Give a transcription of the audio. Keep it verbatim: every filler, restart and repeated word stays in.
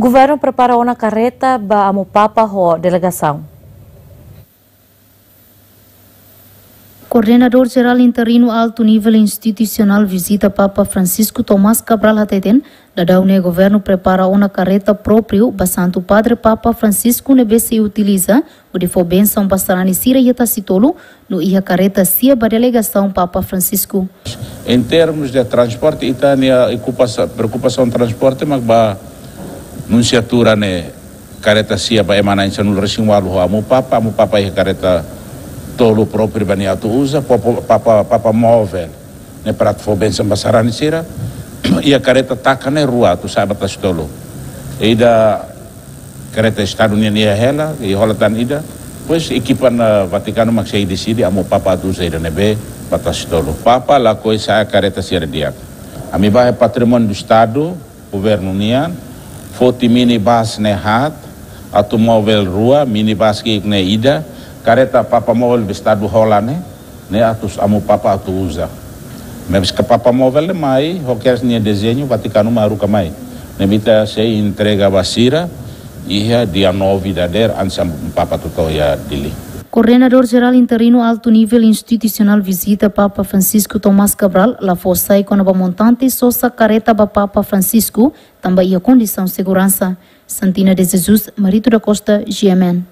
Governu prepara ona kareta ba Amu Papa ho delegasaun. Koordenadór Jerál Interinu Altu Nivel Institusionál vizita Papa Francisco, Tomás Cabral, hateten, daudaun ne'e governu prepara ona kareta própriu ba Santu Padre Papa Francisco ne'ebé sei utiliza hodi fó bensaun ba sarani sira iha Tasitolu, no iha kareta sia ba delegasaun Papa Francisco. Em termos de transporte, ita-nia okupasaun, preokupasaun transporte, mak ba nunsiatura ne'e kareta sia ba ema na'in sanulu-resin-ualu ho Amu Papa, Amu Papa iha kareta tolu própriu ba nia atu uza, papa, papa, papa móvel ne'e para atu fó bensaun ba sarani sira, iha kareta taka ne'e rua atu sa'e ba Tasitolu. Ida kareta Estadu nian iha hela, iha hola tan ida. Depois ekipa Vatikanu mak sei deside, Amu Papa atu uza ida ne'ebé ba Tasitolu. Papa lakohi sa'e kareta sira di'ak. Ami ba iha patrimóniu do Estadu, governu nian, foti minibus ne'e haat, atu móvel rua, minibus ki'ik ne'e ida, kareta papa móvel be Estadu hola ne'e, ne'e atu Amu Papa atu uza. Maibé se papa móvel ne'e mai, ho kedas nia dezeñu, Vatikanu mak haruka mai. Ne'ebé ita sei entrega ba sira iha dia nove dadeer, antes Amu Papa atu to'o iha Dili. Koordenadór Jerál Interinu Altu Nivel Institusionál vizita Papa Francisco, Tomás Cabral, la fó sai kona-ba montante sosa kareta ba Papa Francisco, tanba iha kondisaun seguransa. Santina de Jesus, Marito da Costa, G M N.